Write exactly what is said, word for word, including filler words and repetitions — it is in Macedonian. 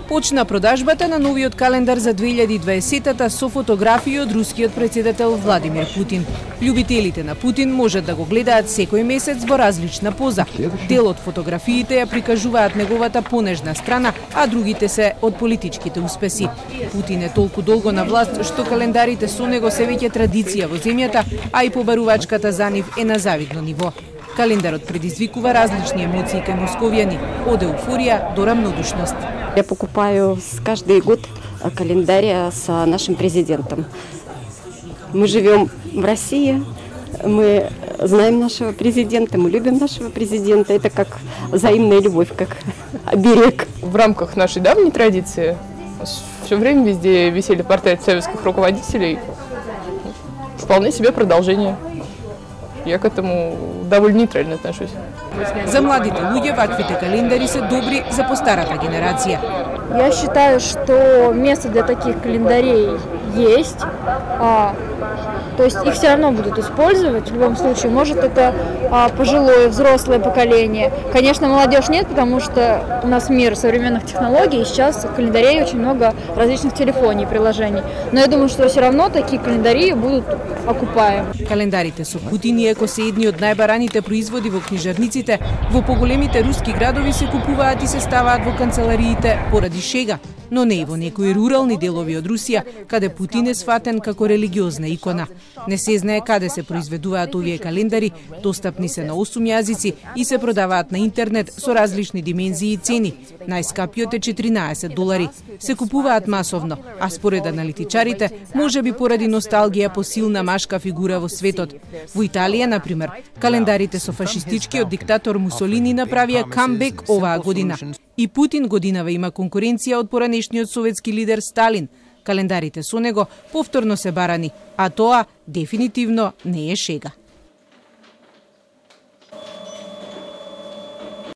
Почна продажбата на новиот календар за две илјади и дваесетта со фотографии од рускиот претседател Владимир Путин. Љубителите на Путин можат да го гледаат секој месец во различна поза. Дел од фотографиите ја прикажуваат неговата понежна страна, а другите се од политичките успеси. Путин е толку долго на власт што календарите со него се веќе традиција во земјата, а и побарувачката за нив е на завидно ниво. Календарот предизвикува различни емоции кај московјани, од еуфорија до рамнодушност. Я покупаю каждый год календарь с нашим президентом. Мы живем в России, мы знаем нашего президента, мы любим нашего президента. Это как взаимная любовь, как оберег. В рамках нашей давней традиции все время везде висели портреты советских руководителей. Вполне себе продолжение. Я к этому довольно нейтрально отношусь. За младите луѓе ваквите календари се добри за постарата генерација. Я считаю, что место для таких календарей есть. А, то есть их все равно будут использовать в любом случае. Может, это а, пожилое, взрослое поколение. Конечно, молодежь нет, потому что у нас мир современных технологий, и сейчас в календарей очень много различных телефонов и приложений. Но я думаю, что все равно такие календари будут окупаемы. Календарите со Путин, иако се едни од најбараните производи во книжарниците, во поголемите руски градови се купуваат и се ставаат во канцелариите поради шега, но не и во некои рурални делови од Русија, каде Путин е сватен како религиозна икона. Не се знае каде се произведуваат овие календари, достапни се на осум јазици и се продаваат на интернет со различни димензии и цени. Најскапиот е четиринаесет долари. Се купуваат масовно, а според аналитичарите, можеби поради носталгија по силна машка фигура во светот. Во Италија, например, календарите со фашистичкиот диктатор Мусолини направија камбек оваа година. И Путин годинава има конкуренција од поранешниот советски лидер Сталин. Календарите со него повторно се барани, а тоа дефинитивно не е шега.